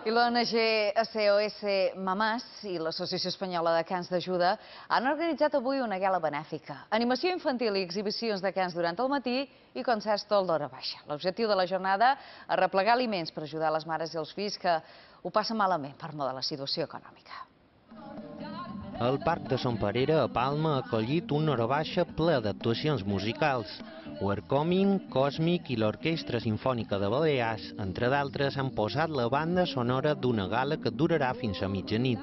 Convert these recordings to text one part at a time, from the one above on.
I l'ONG SOS Mamàs i l'Associació Espanyola de Cans d'Ajuda han organitzat avui una gala benèfica. Animació infantil i exhibicions de cans durant el matí i concerts tot l'hora baixa. L'objectiu de la jornada és arreplegar aliments per ajudar les mares i els fills que ho passen malament per mor de la situació econòmica. El Parc de Son Perera, a Palma, ha acollit un hora baixa ple d'actuacions musicals. Werkoming, Còsmic i l'Orquestra Simfònica de Balears, entre d'altres, han posat la banda sonora d'una gala que durarà fins a mitjanit.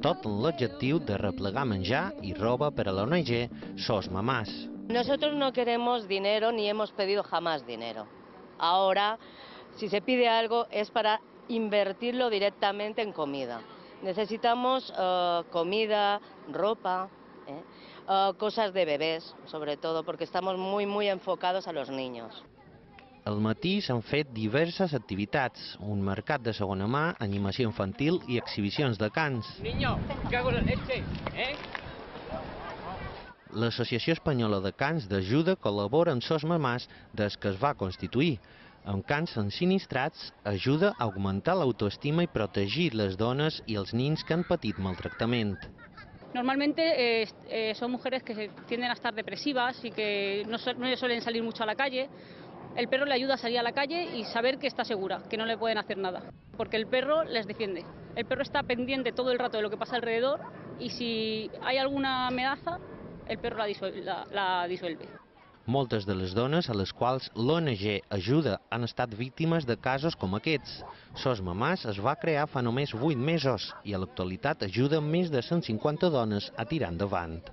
Tot amb l'objectiu de replegar menjar i roba per a l'ONG SOS Mamàs. Nosotros no queremos dinero ni hemos pedido jamás dinero. Ahora, si se pide algo es para invertirlo directamente en comida. Necesitamos comida, ropa, cosas de bebés, sobre todo, porque estamos muy enfocados a los niños. Al matí s'han fet diverses activitats, un mercat de segona mà, animació infantil i exhibicions de cans. L'Associació Espanyola de Cans d'Ajuda col·labora amb SOS Mamàs des que es va constituir. Amb cans ensinistrats ajuda a augmentar l'autoestima i protegir les dones i els nens que han patit maltractament. Normalmente son mujeres que tienden a estar depresivas y que no suelen salir mucho a la calle. El perro le ayuda a salir a la calle y saber que está segura, que no le pueden hacer nada, porque el perro les defiende. El perro está pendiente todo el rato de lo que pasa alrededor y si hay alguna amenaza, el perro la disuelve. Moltes de les dones a les quals l'ONG ajuda han estat víctimes de casos com aquests. SOS Mamàs es va crear fa només 8 mesos i a l'actualitat ajuda més de 150 dones a tirar endavant.